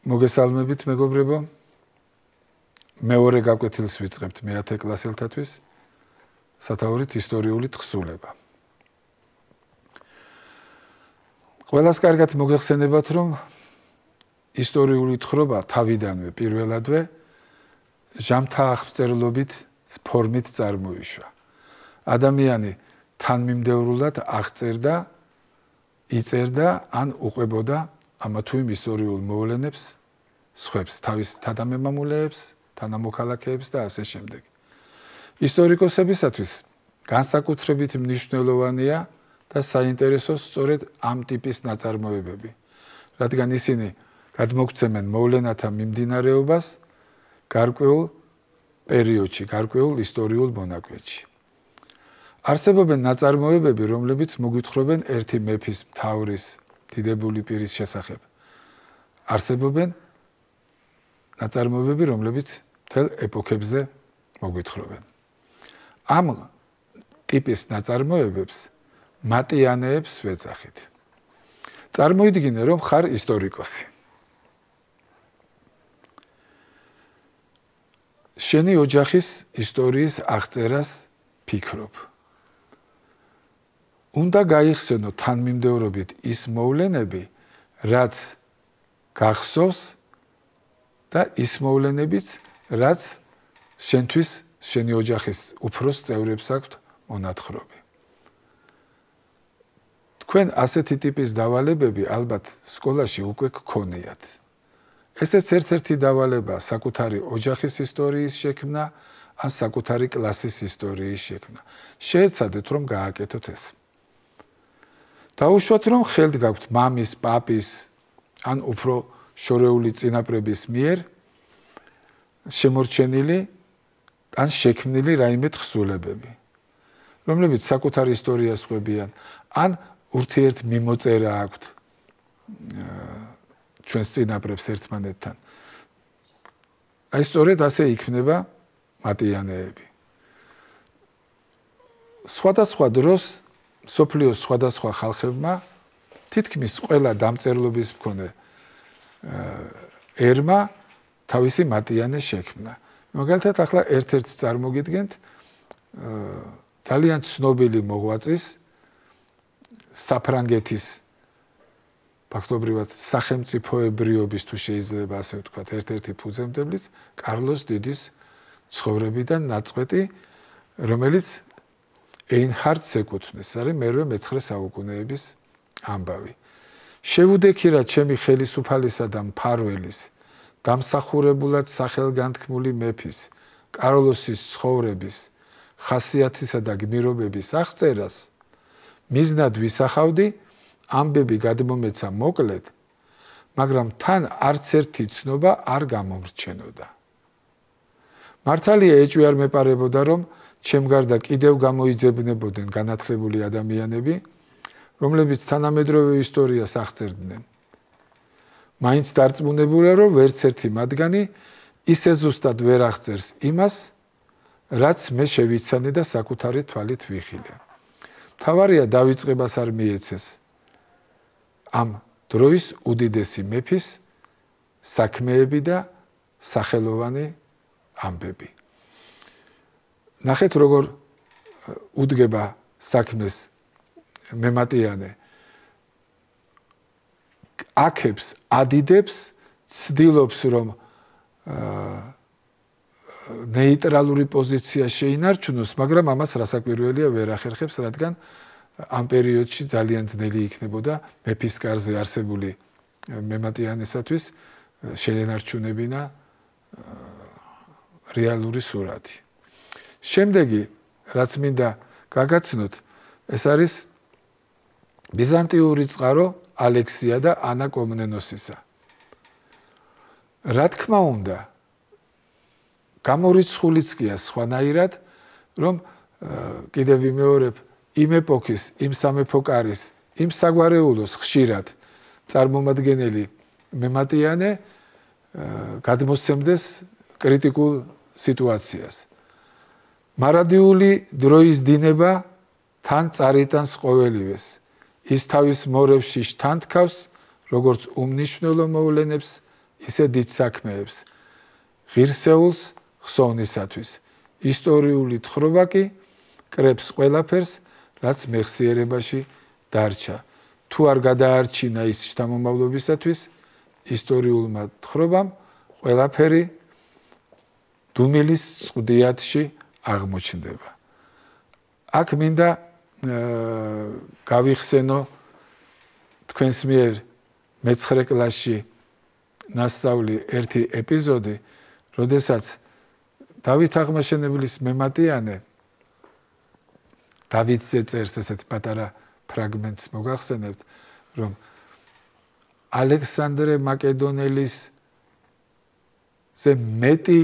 მოგესალმებით მეგობრებო. მეორე გაკვეთილს ვიწყებთ მე-10 კლასელთათვის სათაურით ისტორიული თხზულება. ყველას კარგად მოგეხსენებათ, რომ ისტორიული თხრობა თავიდანვე პირველადვე ჟამთა აღწერლობით ფორმით წარმოიშვა. ადამიანი თანმიმდევრულად აღწერდა, იწერდა ან უყვებოდა ამა თუ იმ ისტორიულ მოვლენებს, სხვებს, თავის თანამემამულეებს, თანამოქალაქეებს და ასე შემდეგ. ისტორიკოსებისათვის განსაკუთრებით მნიშვნელოვანია და საინტერესო სწორედ ამ ტიპის ნაწარმოებები, რადგან ისინი გადმოგცემენ მოვლენათა მიმდინარეობას გარკვეულ პერიოდში, გარკვეულ ისტორიულ მონაკვეთში. არსებობენ ნაწარმოებები, რომლებიც მოგვითხრობენ ერთი მეფის, მთავრის, დიდებული პირის შესახებ. არსებობენ ნაწარმოებები, რომლებიც მთელ ეპოქებზე მოგვითხრობენ. ამ ტიპის ნაწარმოებებს მატიანეებს ვეძახით. წარმოიდგინე, რომ ხარ ისტორიკოსი. შენი ოჯახის ისტორიის აღწერას ფიქრობ. უნდა გაიხსენო თანმიმდევრობით ის მოვლენები, რაც გახსოვს და ის მოვლენებიც, რაც შენთვის, შენი ოჯახის უფროს წევრებს აქვთ მონათხრობი. თქვენ ასეთი ტიპის დავალებები ალბათ სკოლაში უკვე გქონიათ. ესეც ერთ-ერთი დავალებაა საკუთარი ოჯახის ისტორიის შექმნა ან საკუთარი კლასის ისტორიის შექმნა. შეეცადეთ, რომ გააკეთოთ ეს. დაუშვათ, რომ ხელთ გაქვთ მამის, პაპის ან უფრო შორეული წინაპრების მიერ შემორჩენილი ან შექმნილი რაიმე თხზულებები, რომლებიც საკუთარ ისტორიას ყვებიან, ან ურთიერთ მიმოწერა აქვთ ჩვენს წინაპრებს ერთმანეთთან. აი სწორედ ასე იქმნება მატიანეები. სხვადასხვა დროს სოფლიოს სხვადასხვა ხალხებმა თითქმის ყველა დამწერლობის მქონე ერმა თავისი მატიანე შექმნა. მაგალითად, ახლა ერთ-ერთს წარმოგიდგენთ ძალიან ცნობილი მოღვაწის საფრანგეთის ფაქტობრივად სახელმწიფოებრიობის, თუ შეიძლება ასე ვთქვათ, ერთ-ერთი ფუძემდებლის კარლოს დიდის ცხოვრებიდან ნაწყვეტი, რომელიც ეინჰარდს ეკუთვნის, არის მე-9 საუკუნეების ამბავი. შევუდექი რა ჩემი ხელისუფალისა და მფარველის, დამსახურებულად სახელგანთქმული მეფის, კარლოსის ცხოვრების, ხასიათისა და გმირობების აღწერას, მიზნად ვისახავდი, ამბები გადმომეცა მოკლედ, მაგრამ თან არც ერთი ცნობა არ გამომრჩენოდა. მართალია ეჭვი არ მეპარებოდა, რომ ჩემ გარდა კიდევ გამოიძებნებოდნენ განათლებული ადამიანები, რომლებიც თანამედროვე ისტორიას აღწერდნენ. მაინც დარწმუნებულა, რომ ვერც ერთი მათგანი ისე ზუსტად ვერ აღწერს იმას, რაც მე შევიცანე და საკუთარი თვალით ვიხილე. მთავარია დავიწყებას არ მიეცეს ამ დროის უდიდესი მეფის საქმეები და სახელოვანი ამბები. ნახეთ, როგორ უდგება საქმეს მემატიანე. აქებს, ადიდებს, ცდილობს, რომ ნეიტრალური პოზიცია შეინარჩუნოს, მაგრამ ამას რასაკვირველია ვერ ახერხებს, რადგან ამ პერიოდში ძალიან ძნელი იქნებოდა მეფის კარზე არსებული მემატიანესათვის შეენარჩუნებინა რეალური სურათი. შემდეგი, რაც მინდა გაგაცნოთ, ეს არის ბიზანტიური წყარო ალექსია და ანა კომნენოსისა. რა თქმა უნდა, გამორიცხულიც კი სხვანაირად, რომ კიდევ ვიმეორებ, იმ ეპოქის, იმ სამეფო კარის, იმ საგვარეულოს ხშირად წარმომადგენელი მემატიანე გადმოსცემდეს კრიტიკულ სიტუაციას. მარადიული დროის დინება თან წარიტანს ყოველივეს. ის თავის მორევში შთანთქავს, როგორც უმნიშვნელო მოვლენებს, ისე დიდ საქმეებს. ღირსეულს ხსოვნისათვის. ისტორიული თხრობა კი კრებს ყველაფერს, რაც მეხსიერებაში დარჩა. თუ არ გადაარჩინა ის შთამომავლობისათვის, ისტორიულმა თხრობამ ყველაფერი დუმილის წყდიათში აღმოჩნდება. აქ მინდა გავიხსენო თქვენს მიერ მე-9 კლასში ნასწავლი ერთი ეპიზოდი, როდესაც დავით აღმაშენებლის მემატიანე დავითზე წერს ესეთ პატარა ფრაგმენტს მოგახსენებთ, რომ ალექსანდრე მაკედონელის ზე მეტი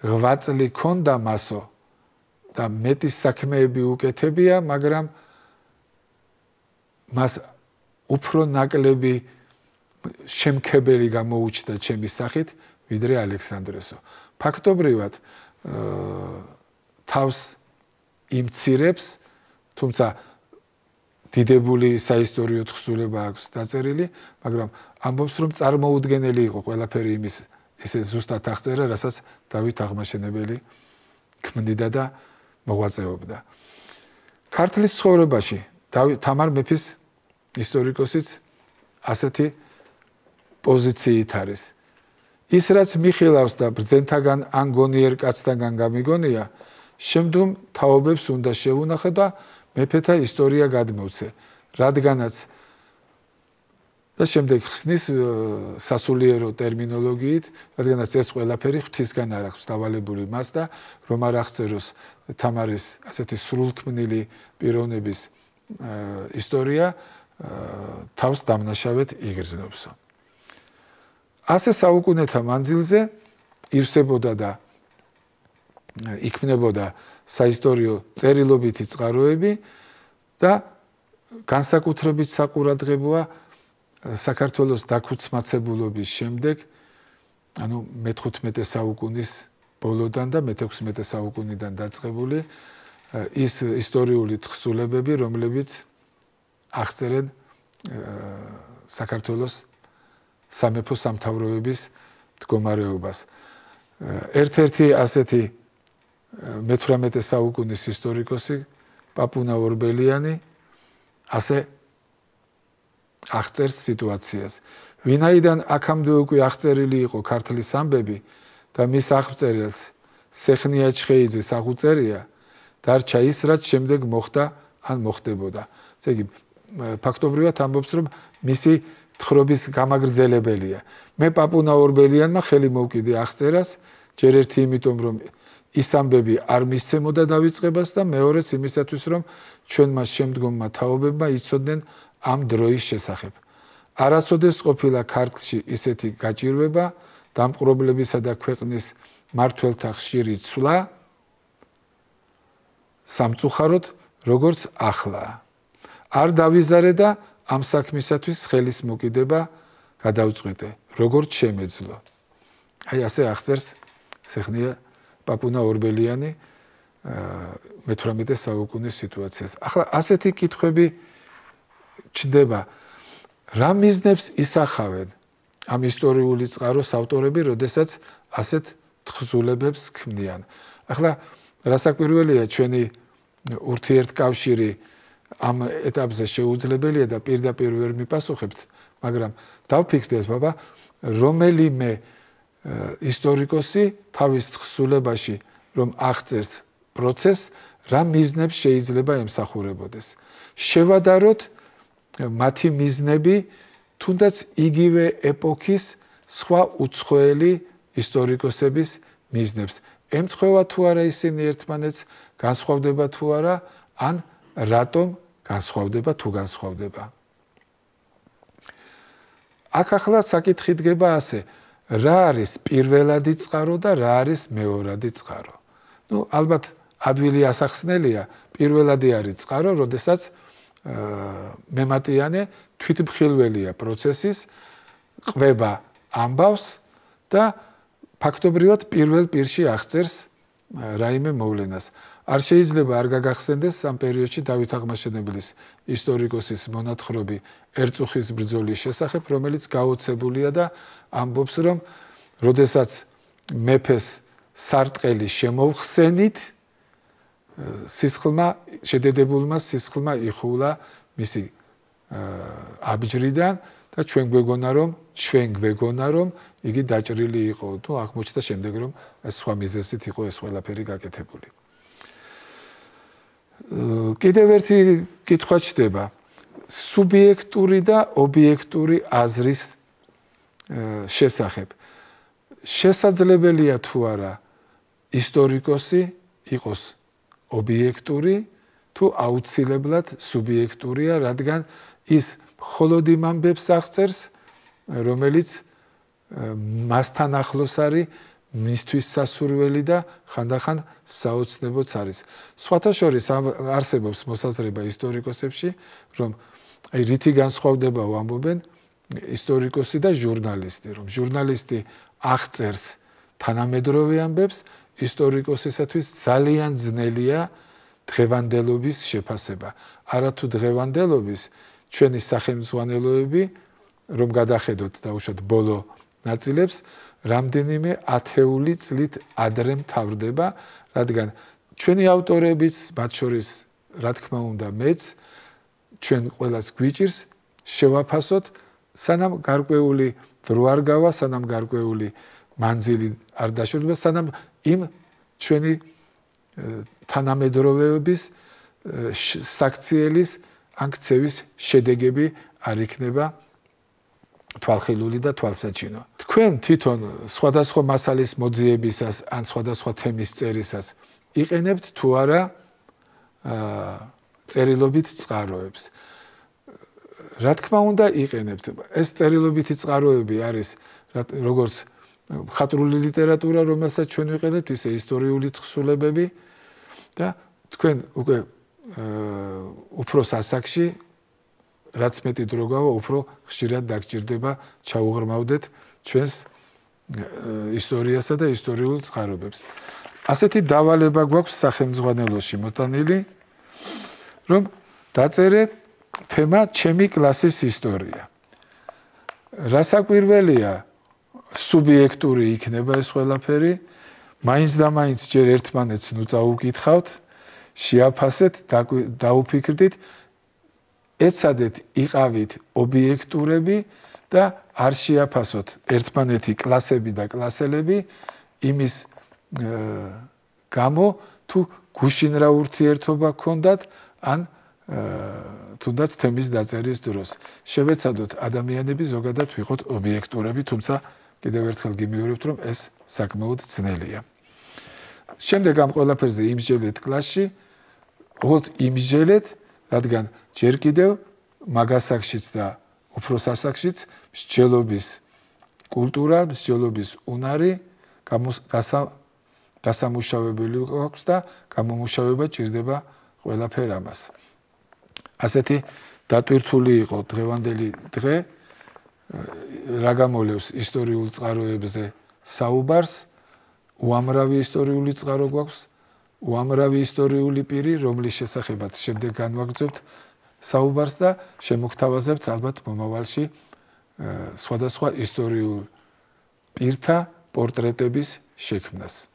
ღვაწლი ქონდა მასო და მეტი საქმეები უკეთებია, მაგრამ მას უფრო ნაკლები შემქებელი გამოუჩნდა ჩემი სახით, ვიდრე ალექსანდრესო. ფაქტობრივად თავს იმცირებს, თუმცა დიდებული საისტორიო თხზულება აქვს დაწერილი, მაგრამ ამბობს, რომ წარმოუდგენელი იყო ყველაფერი იმის ესე ზუსტად აღწერა, რასაც დავით აღმაშენებელი ქმნიდა და მოღვაწეობდა. ქართლის ცხოვრებაში თამარ მეფის ისტორიკოსიც ასეთი პოზიციით არის. ის რაც მიხილავს და ბრძენთაგან ან გონიერ კაცთაგან გამიგონია, შემდგომ თაობებს უნდა შეუნახო და მეფეთა ისტორია გადმოვცე, რადგანაც და შემდეგ ხსნის სასულიერო ტერმინოლოგიით, რადგანაც ეს ყველაფერი ღვთისგან არ აქვს დავალებული მას და რომ არ აღწეროს თამარის ასეთი სრულქმნილი პიროვნების ისტორია თავს დამნაშავედ იგრძნობსო. ასე საუკუნეთა მანძილზე ივსებოდა და იქმნებოდა საისტორიო წერილობითი წყაროები და განსაკუთრებით საყურადღებოა საქართველოს დაქუცმაცებულობის შემდეგ, ანუ მე-15 საუკუნის ბოლოდან და მე-16 საუკუნიდან დაწყებული ის ისტორიული თხზულებები, რომლებიც აღწერენ საქართველოს სამეფო სამთავროების მდგომარეობას. ერთ-ერთი ასეთი მე-18 საუკუნის ისტორიკოსი პაპუნა ორბელიანი ასე აღწერს სიტუაციას. ვინაიდან აქამდე უკვე აღწერილი იყო ქართლის ამბები და მის აღწერილს სეხნია ჩხეიძეს აღუწერია, დარჩა ის, რაც შემდეგ მოხდა ან მოხდებოდა. ესე იგი, ფაქტობრივად ამბობს, რომ მისი თხრობის გამაგრძელებელია. მე პაპუნა ორბელიანმა ხელი მოვკიდე აღწერას, ჯერ ერთი იმიტომ, რომ ის ამბები არ მისცემოდა დავიწყებას და მეორეც იმისათვის, რომ ჩვენმა შემდგომმა თაობებმა იცოდნენ ამ დროის შესახებ. არასოდეს ყოფილა ქართლში ისეთი გაჭირვება, დამპყრობლებისა და ქვეყნის მმართველთა ხშირი ცვლა სამწუხაროდ, როგორც ახლა. არ დავიზარე და ამ საქმისათვის ხელის მოკიდება გადავწყვიტე, როგორც შემეძლო. აი ასე აღწერს სეხნია პაპუნა ორბელიანი მე-18 საუკუნის სიტუაციას. ახლა ასეთი კითხვები ჩნდება, რა მიზნებს ისახავენ ამ ისტორიული წყაროს ავტორები, როდესაც ასეთ თხზულებებს ქმნიან. ახლა რასაკვირველია, ჩვენი ურთიერთკავშირი ამ ეტაპზე შეუძლებელია და პირდაპირ ვერ მიპასუხებთ, მაგრამ დავფიქრდეთ, ბაბა, რომელიმე ისტორიკოსი თავის თხზულებაში, რომ აღწერს პროცესს, რა მიზნებს შეიძლება ემსახურებოდეს. შევადაროთ მათი მიზნები, თუნდაც იგივე ეპოქის სხვა უცხოელი ისტორიკოსების მიზნებს. ემთხვევა თუ არა ისინი ერთმანეთს, განსხვავდება თუ არა, ან რატომ განსხვავდება თუ განსხვავდება. აქ ახლა საკითხი დგება ასე, რა არის პირველადი წყარო და რა არის მეორადი წყარო. ალბათ ადვილი ასახსნელია, პირველადი არის წყარო, როდესაც მემატიანე თვითმხილველია პროცესის, ყვება ამბავს და ფაქტობრივად პირველ პირში აღწერს რაიმე მოვლენას. არ შეიძლება არ გაგახსენდეს ამ პერიოდში დავით აღმაშენებლის ისტორიკოსის მონათხრობი ერწუხის ბრძოლის შესახებ, რომელიც გაოცებულია და ამბობს, რომ როდესაც მეფეს სარტყელი შემოვხსენით, შედედებულმა სისხლმა იხულა მისი აბჯრიდან და ჩვენ გვეგონა რომ იგი დაჭრილი იყო, თუ აღმოჩნდა შემდეგ რომ ეს სხვა მიზეზით იყო ეს ყველაფერი გაკეთებული. კიდევ ერთი კითხვა ჩდება სუბიექტური და ობიექტური აზრის შესახებ. შესაძლებელია თუ არა ისტორიკოსი იყოს ობიექტური თუ აუცილებლად სუბიექტურია, რადგან ის მხოლოდ იმ ამბებს აღწერს, რომელიც მასთან ახლოს არის, მისთვის სასურველი და ხანდახან საოცნებოც არის. სხვათა შორის არსებობს მოსაზრება ისტორიკოსებში, რომ რითი განსხვავდებაო ამბობენ ისტორიკოსი და ჟურნალისტი, რომ ჟურნალისტი აღწერს თანამედროვე ამბებს, ისტორიკოსისათვის ძალიან ძნელია დღევანდელობის შეფასება. არათუ დღევანდელობის ჩვენი სახელმძღვანელოები, რომ გადახედოთ დაუშვათ ბოლო ნაწილებს, რამდენიმე ათეული წლით ადრე მთავრდება, რადგან ჩვენი ავტორებიც, მათ შორის რა თქმა უნდა მეც, ჩვენ ყველას გვიჭირს შევაფასოთ, სანამ გარკვეული დრო არ გავა, სანამ გარკვეული მანძილი არ დაშორდება, სანამ იმ ჩვენი თანამედროვეობის საქციელის ან ქცევის შედეგები არ იქნება თვალხილული და თვალსაჩინო. თქვენ თვითონ სხვადასხვა მასალის მოძიებისას ან სხვადასხვა თემის წერისას იყენებთ თუ არა წერილობით წყაროებს. რა თქმა უნდა იყენებთ. ეს წერილობითი წყაროები არის როგორც მხატვრული ლიტერატურა, რომელსაც ჩვენ ვიყენებთ, ისე ისტორიული თხზულებები და თქვენ უკვე უფრო სასახში რაც მეტი დრო გავა, უფრო ხშირად დაგჭირდება ჩაუღრმავდეთ ჩვენს ისტორიასა და ისტორიულ წყაროებებს. ასეთი დავალება გვაქვს სახელმძღვანელოში მოტანილი, რომ დაწერეთ თემა ჩემი კლასის ისტორია. რასაკვირველია, სუბიექტური იქნება ეს ყველაფერი, მაინც და მაინც ჯერ ერთმანეთს ნუ წაუკითხავთ, შეაფასეთ, დაუფიქრდით, ეცადეთ იყავით ობიექტურები და არ შეაფასოთ ერთმანეთი კლასები და კლასელები იმის გამო თუ გუშინ რა ურთიერთობა გქონდათ ან თუნდაც თემის დაწერის დროს. შევეცადოთ ადამიანები ზოგადად ვიყოთ ობიექტურები, თუმცა კიდევ ერთხელ გიმეორებთ, რომ ეს საკმაოდ ძნელია. შემდეგ ამ ყველაფერზე იმსჯელეთ კლასში, ოღონდ იმსჯელეთ, რადგან ჯერ კიდევ მაგასაკშიც და უფრო სასახშიც მსჯელობის კულტურა, მსჯელობის უნარი გასამუშავებელი აქვს და გამომუშავება ჭირდება ყველაფერ ამას. ასეთი დატვირთული იყო დღევანდელი დღე, რა გამოლევს ისტორიულ წყაროებზე საუბარს, უამრავი ისტორიული წყარო გვაქვს, უამრავი ისტორიული პირი, რომლის შესახებაც შემდეგ განვაგრძობთ საუბარს და შემოგთავაზებთ ალბათ მომავალში სხვადასხვა ისტორიულ პირთა პორტრეტების შექმნას.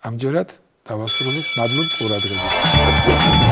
ამჯერად დავასრულოთ, მადლობთ ყურადღებისთვის.